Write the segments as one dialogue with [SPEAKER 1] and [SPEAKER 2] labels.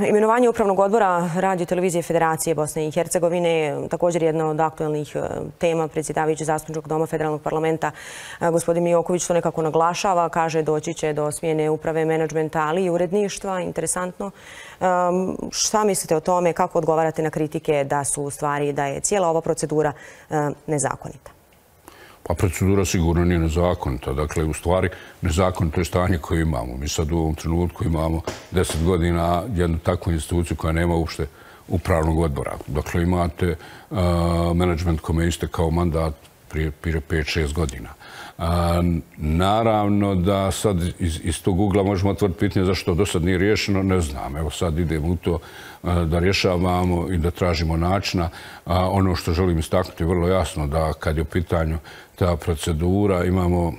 [SPEAKER 1] Imenovanje Upravnog odbora Radio televizije Federacije Bosne i Hercegovine je također jedna od aktuelnih tema. Predsjedavajući Zastupničkog doma Federalnog parlamenta gospodin Mijoković to nekako naglašava. Kaže doći će do smjene uprave, menadžmenta, ali i uredništva. Interesantno. Šta mislite o tome? Kako odgovarate na kritike da su u stvari da je cijela ova procedura nezakonita?
[SPEAKER 2] Pa procedura sigurno nije nezakonita. Dakle, u stvari nezakonito je stanje koje imamo. Mi sad u ovom trenutku imamo 10 godina jednu takvu instituciju koja nema uopšte upravnog odbora. Dakle, imate menadžment kome je istekao mandat prije 5-6 godina. Naravno da sad iz tog ugla možemo otvoriti pitanje zašto do sad nije riješeno, ne znam. Evo sad idemo u to da rješavamo i da tražimo načina. Ono što želim istaknuti je vrlo jasno da kad je u pitanju ta procedura imamo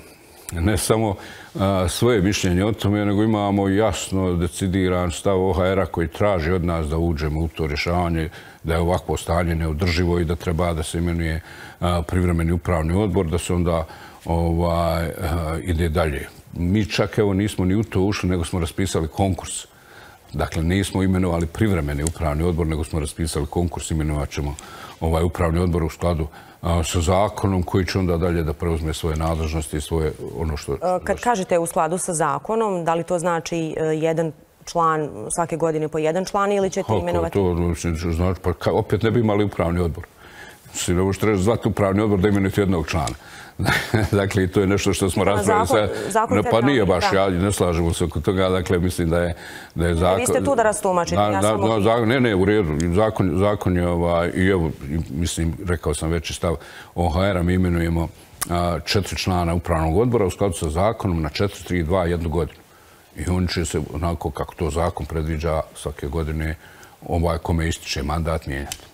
[SPEAKER 2] ne samo svoje mišljenje o tome, nego imamo jasno decidiran stav OHR-a koji traži od nas da uđemo u to rješavanje, da je ovakvo stanje neodrživo i da treba da se imenuje privremeni upravni odbor, da se onda ide dalje. Mi čak evo nismo ni u to ušli, nego smo raspisali konkurs. Dakle, nismo imenovali privremeni upravni odbor, nego smo raspisali konkurs, imenovat ćemo upravni odbor u skladu sa zakonom koji će onda dalje da preuzme svoje nadležnosti i svoje ono što...
[SPEAKER 1] Kad kažete u skladu sa zakonom, da li to znači jedan član svake godine po jedan član ili ćete imenovati?
[SPEAKER 2] To znači, pa opet ne bi imali upravni odbor. Ne možete reći zvati upravni odbor da imenujete jednog člana. Dakle, to je nešto što smo raspravili. Pa nije baš, ja ne slažemo se oko toga. Dakle, mislim da je zakon...
[SPEAKER 1] Vi ste tu da rastumačite.
[SPEAKER 2] Ne, u redu. Zakon je, i evo, mislim, rekao sam već i stav OHR-a, mi imenujemo 4 člana upravnog odbora u skladu sa zakonom na 4, 3, 2, 1 godinu. I oni će se, onako kako to zakon predviđa, svake godine kome ističe mandat mijenjati.